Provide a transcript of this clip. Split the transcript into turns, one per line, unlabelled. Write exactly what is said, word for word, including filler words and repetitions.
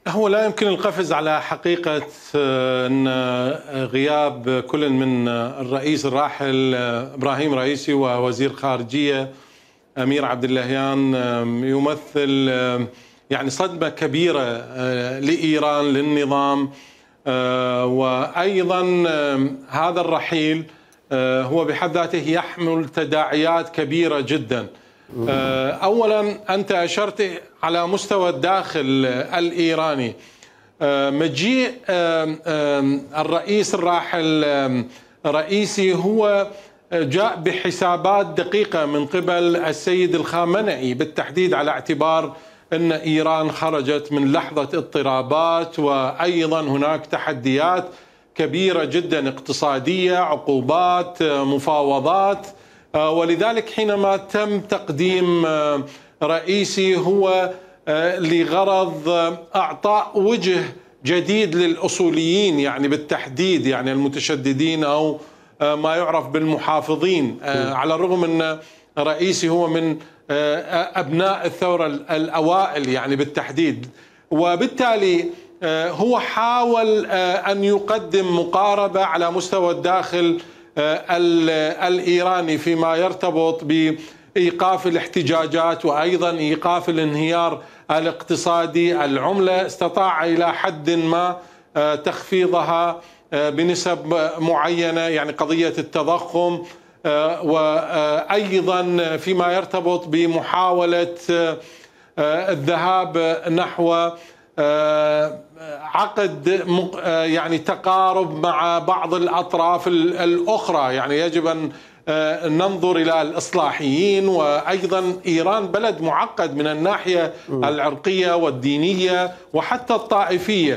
هو لا يمكن القفز على حقيقة أن غياب كل من الرئيس الراحل إبراهيم رئيسي ووزير خارجية أمير عبد اللهيان يمثل يعني صدمة كبيرة لإيران للنظام، وأيضا هذا الرحيل هو بحد ذاته يحمل تداعيات كبيرة جدا. أولا أنت أشرت على مستوى الداخل الإيراني، مجيء الرئيس الراحل رئيسي هو جاء بحسابات دقيقة من قبل السيد الخامنئي بالتحديد، على اعتبار أن إيران خرجت من لحظة اضطرابات، وأيضا هناك تحديات كبيرة جدا اقتصادية، عقوبات، مفاوضات، ولذلك حينما تم تقديم رئيسي هو لغرض إعطاء وجه جديد للأصوليين، يعني بالتحديد يعني المتشددين أو ما يعرف بالمحافظين، على الرغم أن رئيسي هو من أبناء الثورة الأوائل يعني بالتحديد، وبالتالي هو حاول أن يقدم مقاربة على مستوى الداخل الإيراني فيما يرتبط بإيقاف الاحتجاجات وأيضا إيقاف الانهيار الاقتصادي. العملة استطاع إلى حد ما تخفيضها بنسب معينة، يعني قضية التضخم، وأيضا فيما يرتبط بمحاولة الذهاب نحو عقد يعني تقارب مع بعض الأطراف الأخرى. يعني يجب أن ننظر إلى الإصلاحيين، وأيضا إيران بلد معقد من الناحية العرقية والدينية وحتى الطائفية.